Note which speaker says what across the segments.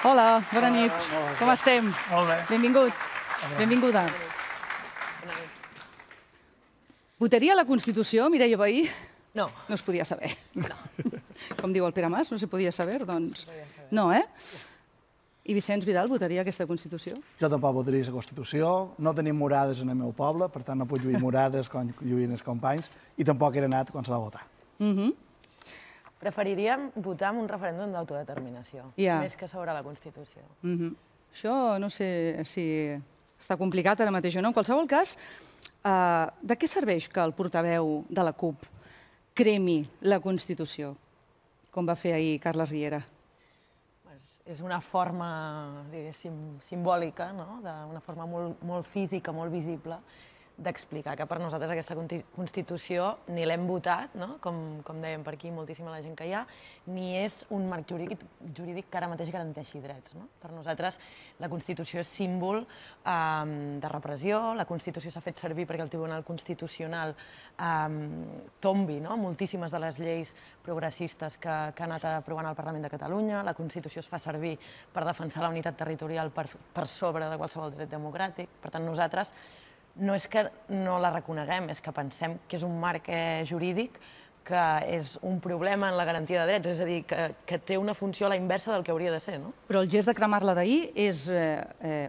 Speaker 1: Hola, bona nit. Com estem?
Speaker 2: Molt bé.
Speaker 1: Benvingut. Benvinguda. Votaria la Constitució, Mireia Vehí?
Speaker 3: No.
Speaker 1: No es podia saber. Com diu el Pere Mas, no se podia saber, doncs... No, eh? I Vicenç Vidal votaria aquesta Constitució?
Speaker 2: Jo tampoc votaria la Constitució. No tenim morades en el meu poble, per tant no puc lluir morades com lluïen els companys, i tampoc era anat quan se va votar.
Speaker 3: Preferiríem votar en un referèndum d'autodeterminació, més que sobre la Constitució.
Speaker 1: Això no sé si està complicat ara mateix o no. En qualsevol cas, de què serveix que el portaveu de la CUP cremi la Constitució, com va fer ahir Carles Riera?
Speaker 3: És una forma, diguéssim, simbòlica, una forma molt física, molt visible, d'explicar que per nosaltres aquesta Constitució ni l'hem votat, com dèiem per aquí, moltíssima la gent que hi ha, ni és un marc jurídic que ara mateix garanteixi drets. Per nosaltres la Constitució és símbol de repressió, la Constitució s'ha fet servir perquè el Tribunal Constitucional tombi moltíssimes de les lleis progressistes que ha anat aprovant el Parlament de Catalunya, la Constitució es fa servir per defensar la unitat territorial per sobre de qualsevol dret democràtic. Per tant, nosaltres no és que no la reconeguem, és que pensem que és un marc jurídic que és un problema en la garantia de drets, és a dir, que té una funció a la inversa del que hauria de ser, no?
Speaker 1: Però el gest de cremar-la d'ahir és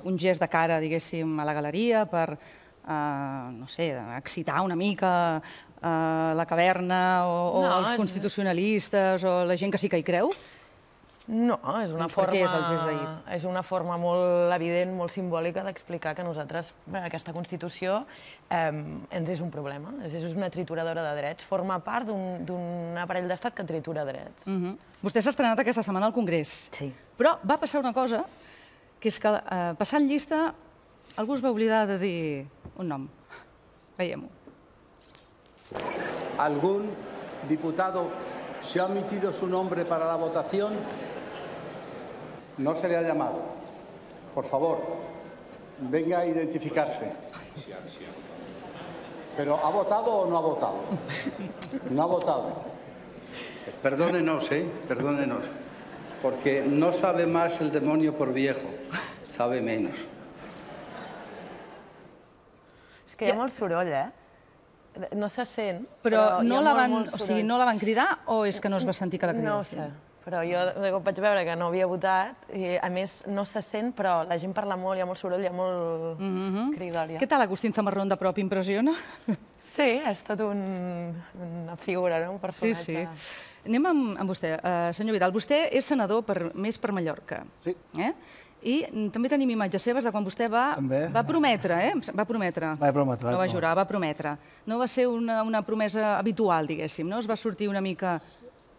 Speaker 1: un gest de cara, diguéssim, a la galeria per, no sé, excitar una mica la caverna o els constitucionalistes o la gent que sí que hi creu?
Speaker 3: No, és una forma molt evident, molt simbòlica d'explicar que nosaltres, aquesta Constitució, ens és un problema, és una trituradora de drets, forma part d'un aparell d'estat que tritura drets.
Speaker 1: Vostè s'ha estrenat aquesta setmana al Congrés.
Speaker 3: Sí.
Speaker 1: Però va passar una cosa, que és que passant llista algú es va oblidar de dir un nom. Veiem-ho.
Speaker 4: ¿Algún diputado se ha omitido su nombre para la votación? No se le ha llamado. Por favor, venga a identificarse. ¿Pero ha votado o no ha votado? No ha votado. Perdónenos, perdónenos. Porque no sabe más el demonio por viejo, sabe menos.
Speaker 3: És que hi ha molt soroll, No se sent,
Speaker 1: però no la van cridar o és que no es va sentir que la cridessin?
Speaker 3: No ho sé, però jo vaig veure que no havia votat i, a més, no se sent, però la gent parla molt, hi ha molt soroll, hi ha molt cridòria.
Speaker 1: Què tal, Agustín Zamarrón, de prop, impressiona?
Speaker 3: Sí, ha estat una figura, un personatge.
Speaker 1: Sí. Anem amb vostè. Senyor Vidal, vostè és senador més per Mallorca.
Speaker 2: Sí.
Speaker 1: I també tenim imatges seves de quan vostè va prometre, Va prometre. No va jurar, va prometre. No va ser una promesa habitual, diguéssim, no? Es va sortir una mica...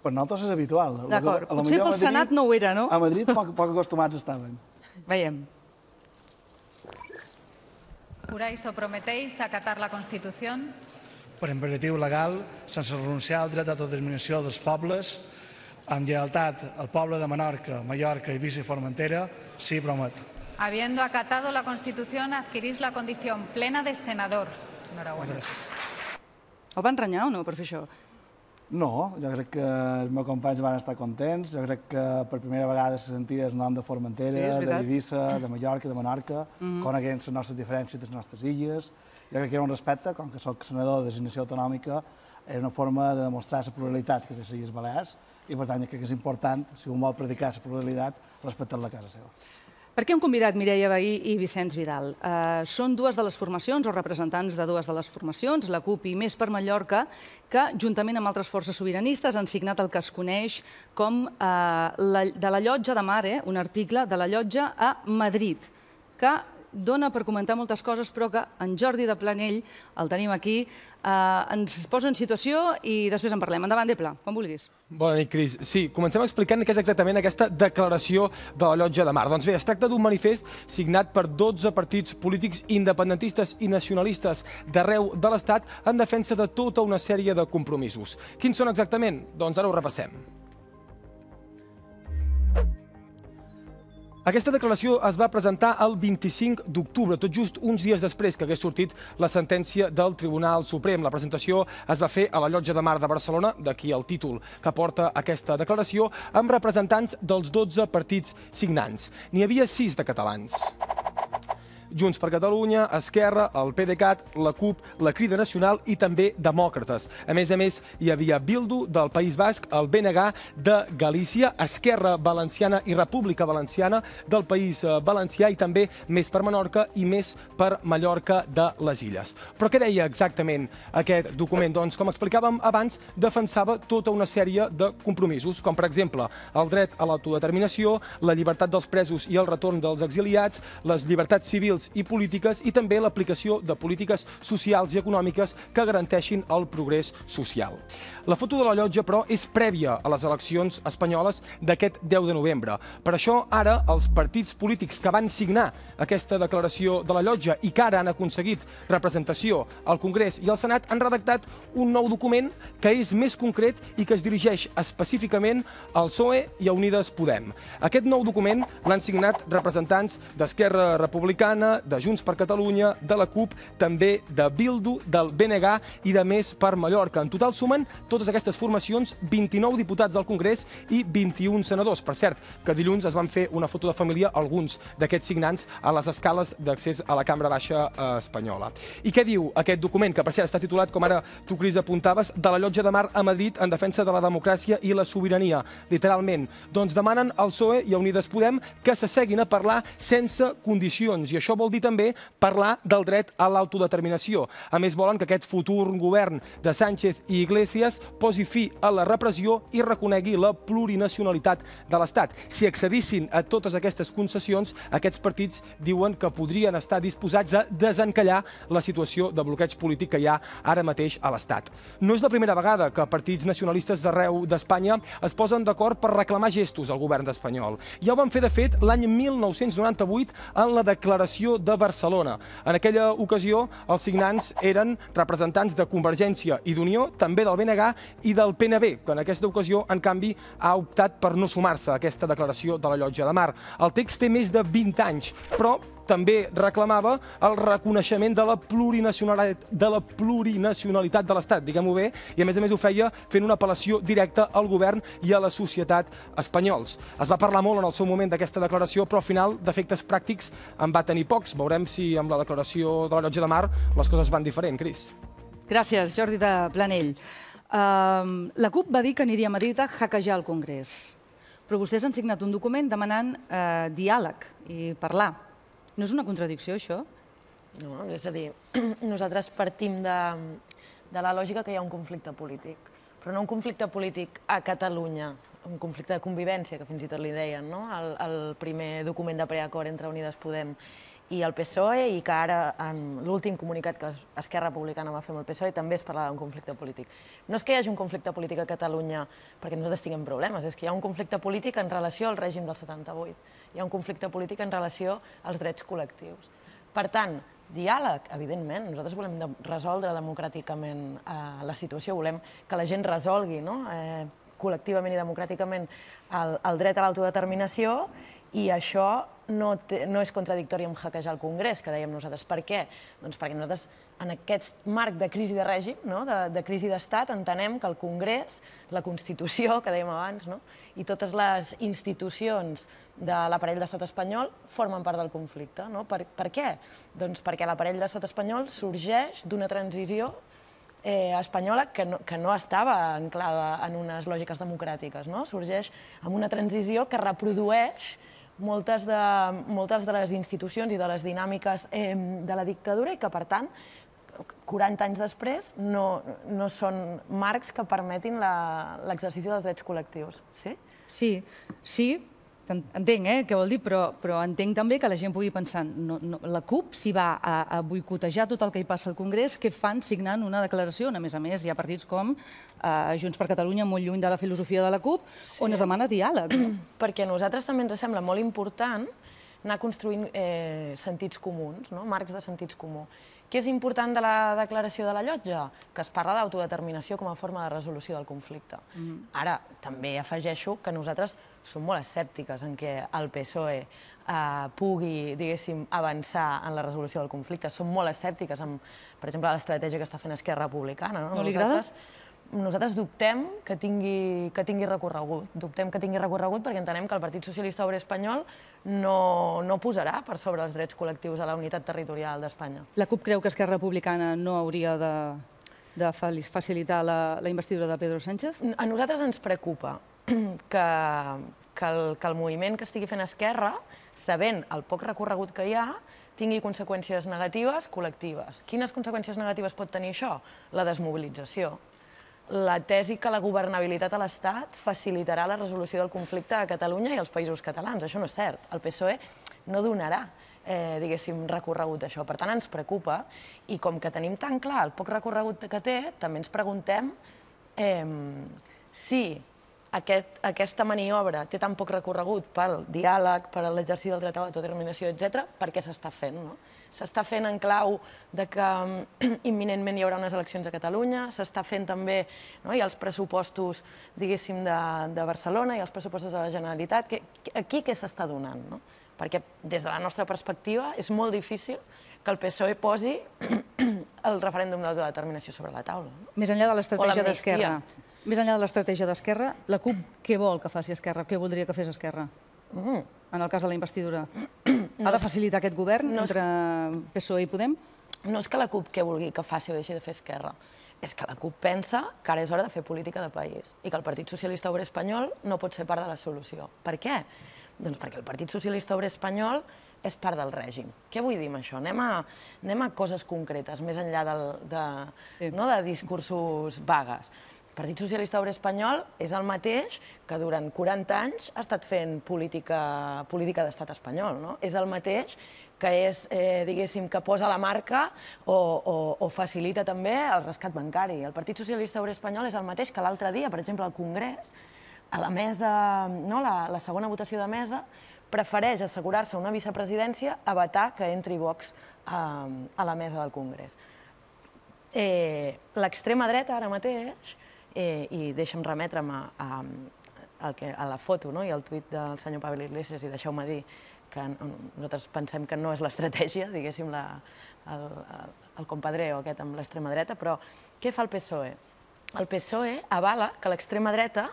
Speaker 2: Per nosaltres és habitual.
Speaker 1: D'acord, potser pel Senat no ho era, no?
Speaker 2: A Madrid poc acostumats estaven.
Speaker 1: Veiem.
Speaker 5: ¿Juráis o prometéis acatar la Constitución?
Speaker 6: Per imperatiu legal, sense renunciar al dret d'autodeterminació dels pobles, amb lleialtat al poble de Menorca, Mallorca, Eivissa i Formentera, sí, promet.
Speaker 5: Habiendo acatado la Constitución, adquirís la condición plena de senador. Enhorabuena.
Speaker 1: El van renyar o no per fer això?
Speaker 2: No, jo crec que els meus companys van estar contents. Jo crec que per primera vegada se sentia el nom de Formentera, d'Eivissa, de Mallorca, de Menorca, coneguent les nostres diferències de les nostres illes. Jo crec que era un respecte, com que soc senador de designació autonòmica, era una forma de demostrar la pluralitat que té les Illes Balears i, per tant, crec que és important, si un vol predicar la pluralitat, respectar-la a casa seva.
Speaker 1: Per què hem convidat Mireia Vehí i Vicenç Vidal? Són dues de les formacions, o representants de dues de les formacions, la CUP i Més per Mallorca, que, juntament amb altres forces sobiranistes, han signat el que es coneix com de la llotja de mar, un article de la llotja a Madrid, que dona per comentar moltes coses, però que en Jordi de Planell, el tenim aquí, ens posa en situació i després en parlem. Endavant, Depla, quan vulguis.
Speaker 7: Bona nit, Cris. Sí, comencem explicant què és exactament aquesta declaració de la Llotja de Mar. Doncs bé, es tracta d'un manifest signat per 12 partits polítics independentistes i nacionalistes d'arreu de l'Estat en defensa de tota una sèrie de compromisos. Quins són exactament? Doncs ara ho repassem. Aquesta declaració es va presentar el 25 d'octubre, tot just uns dies després que hagués sortit la sentència del Tribunal Suprem. La presentació es va fer a la Llotja de Mar de Barcelona, d'aquí el títol que porta aquesta declaració, amb representants dels 12 partits signants. N'hi havia 6 de catalans. Junts per Catalunya, Esquerra, el PDeCAT, la CUP, la Crida Nacional i també demòcrates. A més, hi havia Bildu del País Basc, el BNG de Galícia, Esquerra Valenciana i República Valenciana del País Valencià i també Més per Menorca i Més per Mallorca de les Illes. Però què deia exactament aquest document? Doncs, com explicàvem abans, defensava tota una sèrie de compromisos, com per exemple el dret a l'autodeterminació, la llibertat dels presos i el retorn dels exiliats, les llibertats civils i polítiques i també l'aplicació de polítiques socials i econòmiques que garanteixin el progrés social. La foto de la llotja, però, és prèvia a les eleccions espanyoles d'aquest 10 de novembre. Per això, ara, els partits polítics que van signar aquesta declaració de la llotja i que ara han aconseguit representació al Congrés i al Senat han redactat un nou document que és més concret i que es dirigeix específicament al PSOE i a Unides Podem. Aquest nou document l'han signat representants d'Esquerra Republicana, de Junts per Catalunya, de la CUP, també de Bildu, del BNG i de Més per Mallorca. En total sumen totes aquestes formacions 29 diputats al Congrés i 21 senadors. Per cert, que dilluns es van fer una foto de família alguns d'aquests signants a les escales d'accés a la Cambra Baixa espanyola. I què diu aquest document, que per cert està titulat, com ara tu, Cris, apuntaves, de la Llotja de Mar a Madrid en defensa de la democràcia i la sobirania, literalment. Doncs demanen al PSOE i a Unides Podem que s'asseguin a parlar sense condicions, i això vol dir també parlar del dret a l'autodeterminació. A més, volen que aquest futur govern de Sánchez i Iglesias posi fi a la repressió i reconegui la plurinacionalitat de l'Estat. Si accedissin a totes aquestes concessions, aquests partits diuen que podrien estar disposats a desencallar la situació de bloqueig polític que hi ha ara mateix a l'Estat. No és la primera vegada que partits nacionalistes d'arreu d'Espanya es posen d'acord per reclamar gestos al govern espanyol. Ja ho van fer, de fet, l'any 1998 en la Declaració de Barcelona. En aquella ocasió, els signants eren representants de Convergència i d'Unió, també del BNG i del PNB, que en aquesta ocasió, en canvi, ha optat per no sumar-se a aquesta declaració de la Llotja de Mar. El text té més de 20 anys, però també reclamava el reconeixement de la plurinacionalitat de l'Estat, diguem-ho bé, i a més ho feia fent una apel·lació directa al govern i a la societat espanyols. Es va parlar molt en el seu moment d'aquesta declaració, però al final d'efectes pràctics en va tenir pocs. Veurem si amb la declaració de la Llotja de Mar les coses van diferent, Cris.
Speaker 1: Gràcies, Jordi de Planell. La CUP va dir que aniria a Madrid a hackejar el Congrés, però vostès han signat un document demanant diàleg i parlar. No és una contradicció, això?
Speaker 3: No, és a dir, nosaltres partim de la lògica que hi ha un conflicte polític, però no un conflicte polític a Catalunya, un conflicte de convivència, que fins i tot li deien, no? El primer document de preacord entre Unides Podem i el PSOE, i que ara, en l'últim comunicat que Esquerra Republicana va fer amb el PSOE, també es parlava d'un conflicte polític. No és que hi hagi un conflicte polític a Catalunya perquè nosaltres tinguem problemes, és que hi ha un conflicte polític en relació al règim del 78. Hi ha un conflicte polític en relació als drets col·lectius. Per tant, diàleg, evidentment, nosaltres volem resoldre democràticament la situació, volem que la gent resolgui col·lectivament i democràticament el dret a l'autodeterminació, i això no és contradictori amb hackejar el Congrés, que dèiem nosaltres. Per què? Doncs perquè nosaltres, en aquest marc de crisi de règim, de crisi d'estat, entenem que el Congrés, la Constitució, que dèiem abans, i totes les institucions de l'aparell d'estat espanyol formen part del conflicte. Per què? Doncs perquè l'aparell d'estat espanyol sorgeix d'una transició espanyola que no estava anclada en unes lògiques democràtiques. Sorgeix amb una transició que reprodueix moltes de les institucions i de les dinàmiques de la dictadura i que, per tant, 40 anys després, no són marcs que permetin l'exercici dels drets col·lectius. Sí?
Speaker 1: Sí, entenc què vol dir, però entenc també que la gent pugui pensar la CUP, si va a boicotejar tot el que hi passa al Congrés, què fan signant una declaració? A més, hi ha partits com Junts per Catalunya, molt lluny de la filosofia de la CUP, on es demana diàleg.
Speaker 3: Perquè a nosaltres també ens sembla molt important anar construint sentits comuns, marcs de sentits comú. Què és important de la declaració de la Llotja? Que es parla d'autodeterminació com a forma de resolució del conflicte. Ara, també afegeixo que nosaltres som molt escèptiques en què el PSOE pugui, diguéssim, avançar en la resolució del conflicte. Som molt escèptiques amb, per exemple, l'estratègia que està fent Esquerra Republicana.
Speaker 1: No li agrada?
Speaker 3: Nosaltres dubtem que tingui recorregut. Dubtem que tingui recorregut perquè entenem que el Partit Socialista Obrer Espanyol no posarà per sobre els drets col·lectius a la unitat territorial d'Espanya.
Speaker 1: La CUP creu que Esquerra Republicana no hauria de facilitar la investidura de Pedro Sánchez?
Speaker 3: A nosaltres ens preocupa que el moviment que estigui fent Esquerra, sabent el poc recorregut que hi ha, tingui conseqüències negatives col·lectives. Quines conseqüències negatives pot tenir això? La desmobilització. La tesi que la governabilitat a l'Estat facilitarà la resolució del conflicte a Catalunya i als països catalans. Això no és cert. El PSOE no donarà, diguéssim, recorregut a això. Per tant, ens preocupa. I com que tenim tan clar el poc recorregut que té, també ens preguntem si aquesta maniobra té tan poc recorregut pel diàleg, per l'exercici del dret a l'autodeterminació, etc., per què s'està fent? S'està fent en clau que imminentment hi haurà unes eleccions a Catalunya, s'està fent també, hi ha els pressupostos, diguéssim, de Barcelona i els pressupostos de la Generalitat. Aquí què s'està donant? Perquè des de la nostra perspectiva és molt difícil que el PSOE posi el referèndum d'autodeterminació sobre la taula.
Speaker 1: Més enllà de l'estratègia d'Esquerra, més enllà de l'estratègia d'Esquerra, la CUP què vol que faci Esquerra? Què voldria que fes Esquerra? En el cas de la investidura. Ha de facilitar aquest govern entre PSOE i Podem?
Speaker 3: No és que la CUP què vulgui que faci o deixi de fer Esquerra. És que la CUP pensa que ara és hora de fer política de país i que el Partit Socialista Obrer Espanyol no pot ser part de la solució. Per què? Doncs perquè el Partit Socialista Obrer Espanyol és part del règim. Què vull dir amb això? Anem a coses concretes, més enllà de discursos vagues. El Partit Socialista Obrer Espanyol és el mateix que durant 40 anys ha estat fent política d'estat espanyol. És el mateix que és, diguéssim, que posa la marca o facilita també el rescat bancari. El Partit Socialista Obrer Espanyol és el mateix que l'altre dia, per exemple, al Congrés, a la mesa, la segona votació de mesa, prefereix assegurar-se una vicepresidència a vetar que entri Vox a la mesa del Congrés. L'extrema dreta ara mateix, i deixa'm remetre'm a la foto i al tuit del senyor Pablo Iglesias, i deixeu-me dir que nosaltres pensem que no és l'estratègia, diguéssim, el compadreo aquest amb l'extrema dreta, però què fa el PSOE? El PSOE avala que l'extrema dreta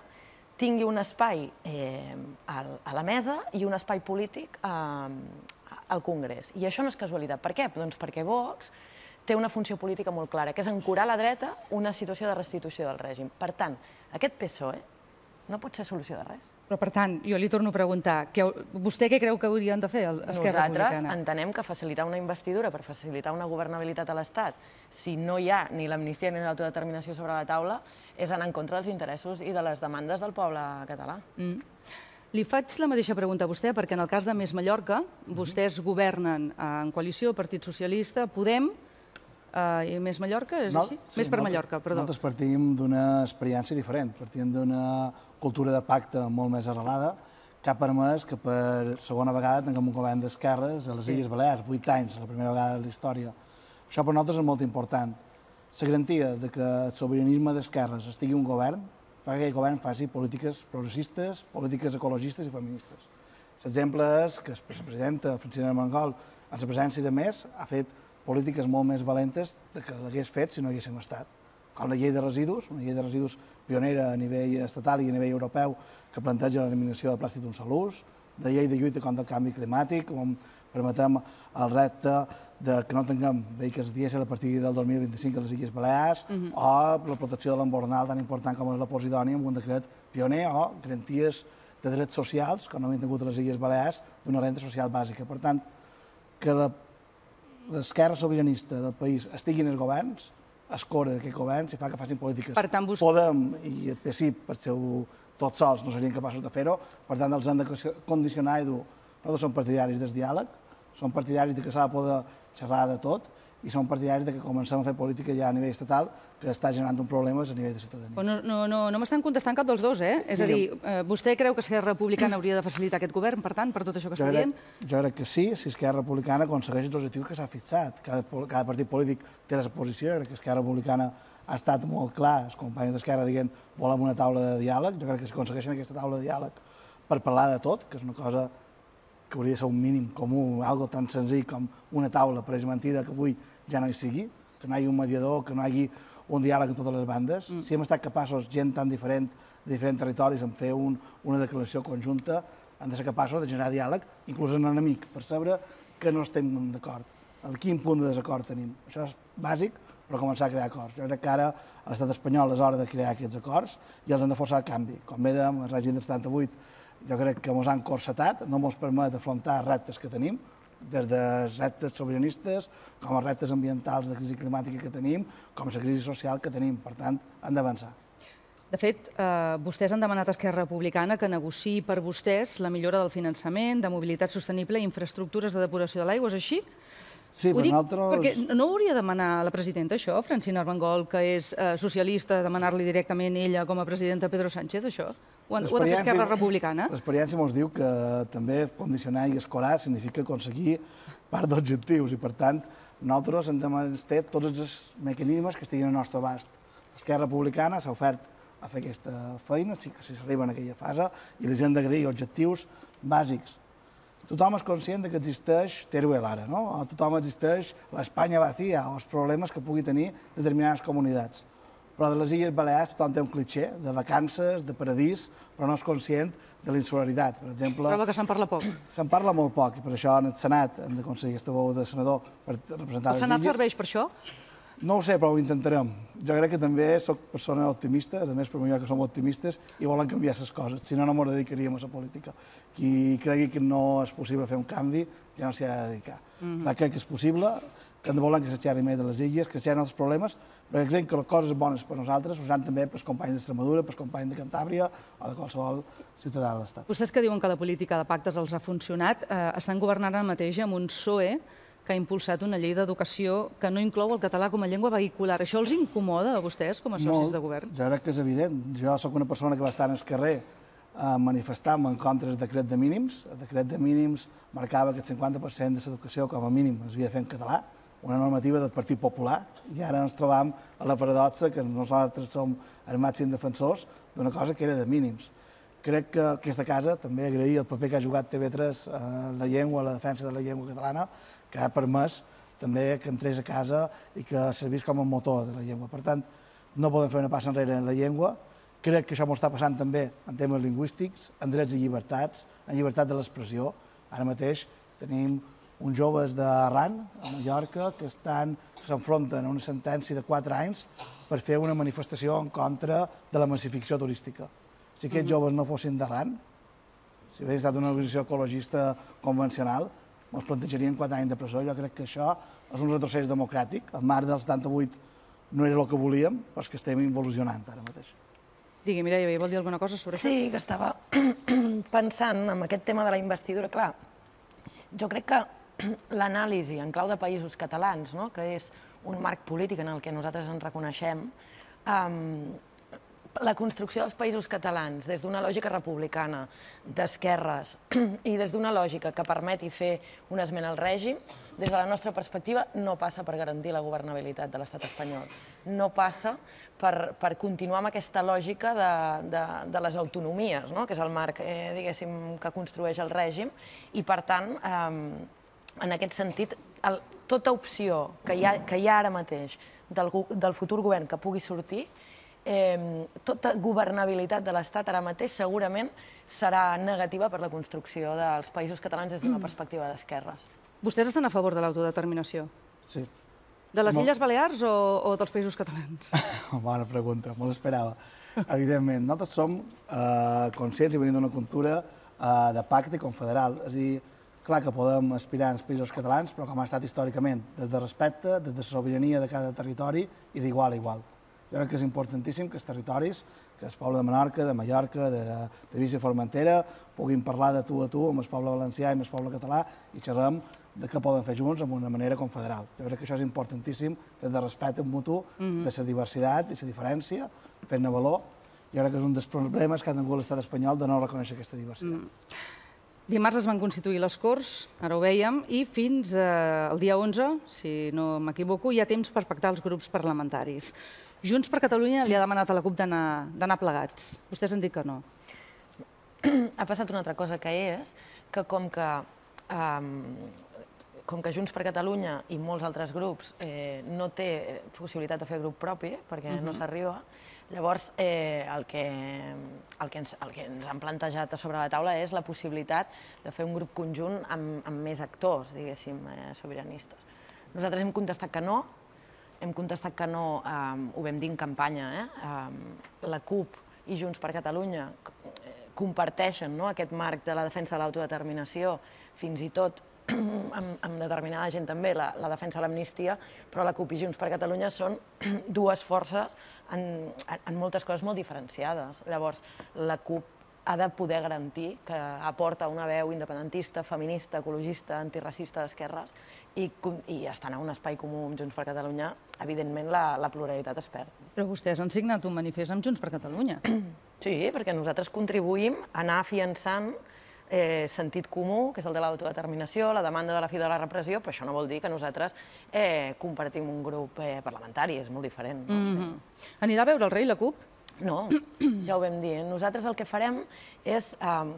Speaker 3: tingui un espai a la mesa i un espai polític al Congrés. I això no és casualitat. Per què? Doncs perquè Vox té una funció política molt clara, que és ancorar a la dreta una situació de restitució del règim. Per tant, aquest PSOE no pot ser solució de res.
Speaker 1: Però, per tant, jo li torno a preguntar, vostè què creu que haurien de fer Esquerra Republicana?
Speaker 3: Nosaltres entenem que facilitar una investidura per facilitar una governabilitat a l'Estat, si no hi ha ni l'amnistia ni l'autodeterminació sobre la taula, és anar en contra dels interessos i de les demandes del poble català.
Speaker 1: Li faig la mateixa pregunta a vostè, perquè en el cas de Més Mallorca, vostès governen en coalició, Partit Socialista, Podem, i Més Mallorca, és així? Més per Mallorca, perdó.
Speaker 2: Nosaltres partim d'una experiència diferent, partim d'una cultura de pacte molt més arrelada, que ha permès que per segona vegada tinguem un govern d'esquerres a les Illes Balears, 8 anys, la primera vegada de la història. Això per nosaltres és molt important. La garantia que el sobiranisme d'esquerres estigui un govern fa que aquell govern faci polítiques progressistes, polítiques ecologistes i feministes. L'exemple és que la presidenta Francina Armengol, en la presència de Més, ha fet polítiques molt més valentes que l'hagués fet si no haguéssim estat. Com la llei de residus, una llei de residus pionera a nivell estatal i a nivell europeu que planteja l'eliminació del plàstic d'un sol ús, de llei de lluita contra el canvi climàtic, on permetem el repte que no tinguem vehicles dièsel a partir del 2025 a les Illes Balears, o la protecció de l'embornal tan important com és la Posidònia, amb un decret pioner, o garanties de drets socials, que no havien tingut a les Illes Balears, d'una renda social bàsica. Per tant, que l'esquerra sobiranista del país estigui en els governs, escorre aquest govern si fa que facin polítiques. Podem i el PSIP, per ser tots sols, no serien capaços de fer-ho, per tant els han de condicionar i dur. Nosaltres som partidaris del diàleg, som partidaris que s'ha de poder xerrar de tot i som partidaris que comencem a fer política ja a nivell estatal, que està generant uns problemes a nivell de ciutadania.
Speaker 1: No m'estan contestant cap dels dos, eh? És a dir, vostè creu que Esquerra Republicana hauria de facilitar aquest govern, per tant, per tot això que està dient?
Speaker 2: Jo crec que sí, si Esquerra Republicana aconsegueix els objectius que s'ha fixat. Cada partit polític té la seva posició, jo crec que Esquerra Republicana ha estat molt clar, els companys d'Esquerra dient volem una taula de diàleg, jo crec que si aconsegueixen aquesta taula de diàleg per parlar de tot, que és una cosa que hauria de ser un mínim comú, algo tan senzill com una taula preesmentida que avui ja no hi sigui, que no hi hagi un mediador, que no hi hagi un diàleg en totes les bandes. Si hem estat capaços, gent tan diferent, de diferents territoris, en fer una declaració conjunta, hem de ser capaços de generar diàleg, inclús en enemic, per saber que no estem d'acord. A quin punt de desacord tenim. Això és bàsic, però començar a crear acords. Jo crec que ara a l'estat espanyol és hora de crear aquests acords i els hem de forçar al canvi. Com dèiem, el règim del 78, jo crec que ens han corsetat, no ens permet afrontar reptes que tenim, des dels reptes sobiranistes, com els reptes ambientals de crisi climàtica que tenim, com la crisi social que tenim. Per tant, han d'avançar.
Speaker 1: De fet, vostès han demanat a Esquerra Republicana que negociï per vostès la millora del finançament, de mobilitat sostenible i infraestructures de depuració de l'aigua, és així?
Speaker 2: Sí, per nosaltres...
Speaker 1: Perquè no hauria de demanar a la presidenta això, Francina Armengol, que és socialista, demanar-li directament ella com a presidenta a Pedro Sánchez, això? Ho ha de fer Esquerra Republicana?
Speaker 2: L'experiència ens diu que també condicionar i escorar significa aconseguir part d'objectius i, per tant, nosaltres hem de mantenir tots els mecanismes que estiguin al nostre abast. Esquerra Republicana s'ha ofert a fer aquesta feina, si s'arriba en aquella fase, i els hem d'agrair objectius bàsics. Tothom és conscient que existeix Teruel ara, no? Tothom existeix l'Espanya vacía o els problemes que pugui tenir determinades comunitats. Però de les Illes Balears tothom té un clitxer de vacances, de paradís, però no és conscient de l'insularitat. Per exemple...
Speaker 1: Troba que se'n parla poc.
Speaker 2: Se'n parla molt poc, i per això en el Senat hem d'aconseguir aquesta veu de senador per representar les Illes.
Speaker 1: El Senat serveix per això?
Speaker 2: No ho sé, però ho intentarem. Jo crec que també soc persona optimista, a més per mi que som optimistes i volen canviar les coses, si no, no m'ho dedicaríem a la política. Qui cregui que no és possible fer un canvi, ja no s'hi ha de dedicar. Crec que és possible, que hem de voler que s'aixerri més de les illes, que s'aixerrin els problemes, perquè creiem que les coses bones per nosaltres ho seran també pels companys d'Extremadura, pels companys de Cantàbria o de qualsevol ciutadà de l'Estat.
Speaker 1: Vostès que diuen que la política de pactes els ha funcionat, estan governant ara mateix amb un PSOE que ha impulsat una llei d'educació que no inclou el català com a llengua vehicular. Això els incomoda a vostès com a socis de govern?
Speaker 2: Jo crec que és evident. Jo sóc una persona que va estar en el carrer manifestant-me en contra del decret de mínims. El decret de mínims marcava que el 50% de l'educació com a mínim es havia de fer en català, una normativa del Partit Popular, i ara ens trobam a la paradoxa que nosaltres som els màxims defensors d'una cosa que era de mínims. Crec que aquesta casa també agrair el paper que ha jugat TV3 en la llengua, la defensa de la llengua catalana, que ha permès també que entrés a casa i que servís com a motor de la llengua. Per tant, no podem fer una passa enrere en la llengua. Crec que això m'ho està passant també en temes lingüístics, en drets i llibertats, en llibertat de l'expressió. Ara mateix tenim uns joves d'Arran, a Mallorca, que s'enfronten a una sentència de 4 anys per fer una manifestació en contra de la massificació turística. Si aquests joves no fossin d'Arran, si hagués estat una organització ecologista convencional, ens plantejarien 4 anys de presó. Jo crec que això és un retrocés democràtic. El marc del 78 no era el que volíem, però és que estem involucionant ara mateix.
Speaker 1: Digui, Mireia, vol dir alguna cosa sobre això?
Speaker 3: Sí, que estava pensant en aquest tema de la investidura. Clar, jo crec que l'anàlisi en clau de països catalans, que és un marc polític en el que nosaltres ens reconeixem, la construcció dels països catalans des d'una lògica republicana, d'esquerres, i des d'una lògica que permeti fer una esmena al règim, des de la nostra perspectiva, no passa per garantir la governabilitat de l'estat espanyol. No passa per continuar amb aquesta lògica de les autonomies, que és el marc, diguéssim, que construeix el règim, i per tant, en aquest sentit, tota opció que hi ha ara mateix del futur govern que pugui sortir, tota governabilitat de l'Estat ara mateix segurament serà negativa per la construcció dels països catalans des d'una perspectiva d'esquerres.
Speaker 1: Vostès estan a favor de l'autodeterminació?
Speaker 2: Sí.
Speaker 1: De les Illes Balears o dels països catalans?
Speaker 2: Bona pregunta, me l'esperava. Evidentment, nosaltres som conscients i venim d'una cultura de pacte confederal. És a dir, clar que podem aspirar als països catalans, però com ha estat històricament, des de respecte, des de sobirania de cada territori i d'igual a igual. Jo crec que és importantíssim que els territoris, que el poble de Menorca, de Mallorca, d'Eivissa i Formentera, puguin parlar de tu a tu amb el poble valencià i amb el poble català i xerrem de què poden fer junts amb una manera confederal. Jo crec que això és importantíssim, des de respecte mutu, de la diversitat i la diferència, fent-ne valor. Jo crec que és un dels problemes que ha tingut l'estat espanyol de no reconèixer aquesta diversitat.
Speaker 1: Dimarts es van constituir les Corts, ara ho vèiem, i fins al dia 11, si no m'equivoco, hi ha temps per pactar els grups parlamentaris. Junts per Catalunya li ha demanat a la CUP d'anar plegats. Vostès han dit que no.
Speaker 3: Ha passat una altra cosa, que és que com que Junts per Catalunya i molts altres grups no té possibilitat de fer grup propi, perquè no s'arriba, llavors el que ens han plantejat a sobre la taula és la possibilitat de fer un grup conjunt amb més actors, diguéssim, sobiranistes. Nosaltres hem contestat que no, ho vam dir en campanya, la CUP i Junts per Catalunya comparteixen aquest marc de la defensa de l'autodeterminació, fins i tot amb determinada gent també, la defensa de l'amnistia, però la CUP i Junts per Catalunya són dues forces en moltes coses molt diferenciades. Llavors, la CUP ha de poder garantir que aporta una veu independentista, feminista, ecologista, antiracista d'esquerres i estant en un espai comú amb Junts per Catalunya, evidentment la pluralitat es perd.
Speaker 1: Però vostès han signat un manifest amb Junts per Catalunya.
Speaker 3: Sí, perquè nosaltres contribuïm a anar afiançant sentit comú, que és el de l'autodeterminació, la demanda de la fi de la repressió, però això no vol dir que nosaltres compartim un grup parlamentari, és molt diferent.
Speaker 1: Anirà a veure el rei, la CUP?
Speaker 3: No, ja ho vam dir. Nosaltres el que farem és,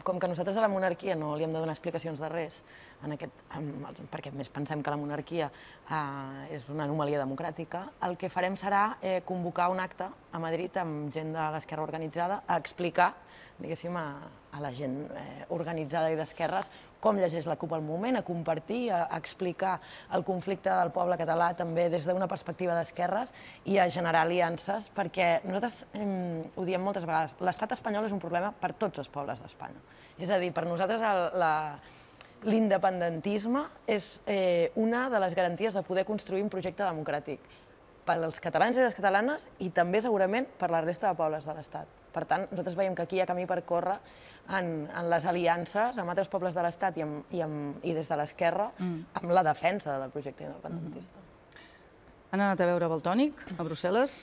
Speaker 3: com que nosaltres a la monarquia no li hem de donar explicacions de res, perquè més pensem que la monarquia és una anomalia democràtica, el que farem serà convocar un acte a Madrid amb gent de l'esquerra organitzada a explicar, diguéssim, a la gent organitzada i d'esquerres com llegeix la CUP al moment, a compartir, a explicar el conflicte del poble català també des d'una perspectiva d'esquerres i a generar aliances, perquè nosaltres ho diem moltes vegades, l'estat espanyol és un problema per tots els pobles d'Espanya. És a dir, per nosaltres l'independentisme és una de les garanties de poder construir un projecte democràtic per als catalans i les catalanes i també segurament per la resta de pobles de l'Estat. Per tant, nosaltres veiem que aquí hi ha camí per córrer en les aliances amb altres pobles de l'Estat i des de l'esquerra amb la defensa del projecte independentista.
Speaker 1: Han anat a veure Valtònic, a Brussel·les?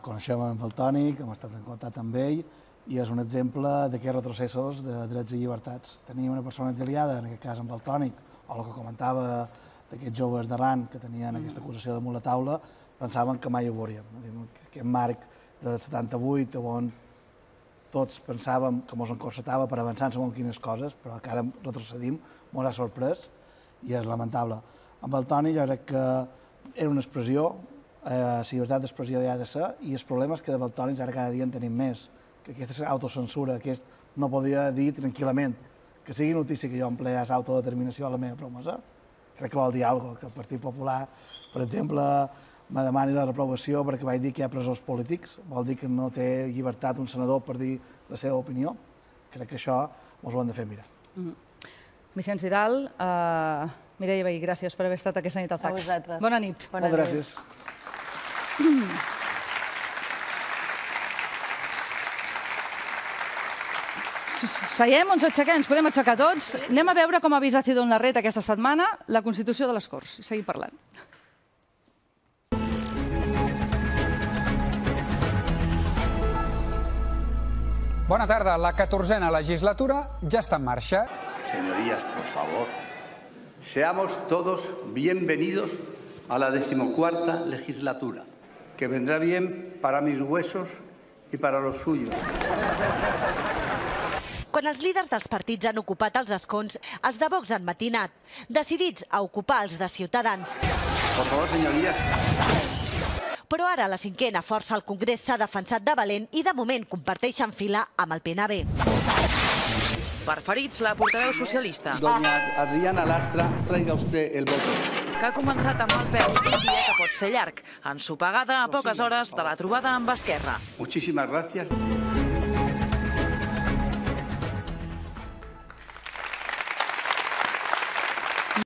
Speaker 2: Coneixem en Valtònic, hem estat en contacte amb ell i és un exemple d'aquests retrocessos de drets i llibertats. Tenir una persona exiliada, en aquest cas en Valtònic, o el que comentava d'aquests joves d'Arran que tenien aquesta acusació damunt la taula, pensaven que mai ho veuríem. Aquest marc del 78, on tots pensàvem que ens encorsetava per avançar en segons quines coses, però que ara retrocedim, ens ha sorprès i és lamentable. Amb el Toni jo crec que era una expressió, la llibertat d'expressió hi ha de ser, i el problema és que de Valtònics ara cada dia en tenim més, que aquesta autocensura, aquest no podia dir tranquil·lament que sigui notícia que jo empleés autodeterminació a la meva promesa, crec que vol dir alguna cosa, que el Partit Popular, per exemple, me demani la reprovació perquè vaig dir que hi ha presors polítics, vol dir que no té llibertat un senador per dir la seva opinió. Crec que això ens ho hem de fer mirar.
Speaker 1: Vicenç Vidal, Mireia Vehí, gràcies per haver estat aquesta nit al Fax.
Speaker 3: A vosaltres.
Speaker 1: Bona nit.
Speaker 2: Moltes gràcies.
Speaker 1: Seiem o ens aixequem? Ens podem aixecar tots? Anem a veure com ha vist Cidón Larret aquesta setmana la Constitució de les Corts. Seguim parlant.
Speaker 8: Bona tarda. La 14a legislatura ja està en marxa.
Speaker 4: Señorías, por favor, seamos todos bienvenidos a la 14ª legislatura, que vendrá bien para mis huesos y para los suyos.
Speaker 9: Quan els líders dels partits han ocupat els escons, els de Vox han matinat, decidits a ocupar els de Ciutadans.
Speaker 4: Por favor, señorías.
Speaker 9: Però ara la 5a força al Congrés s'ha defensat de valent i de moment comparteixen fila amb el PNB.
Speaker 10: Per ferits, la portaveu socialista.
Speaker 4: Doña Adriana Lastra, traiga usted el voto.
Speaker 10: Que ha començat amb mal peu un dia que pot ser llarg, ensopegada a poques hores de la trobada amb Esquerra.
Speaker 4: Muchísimas gracias.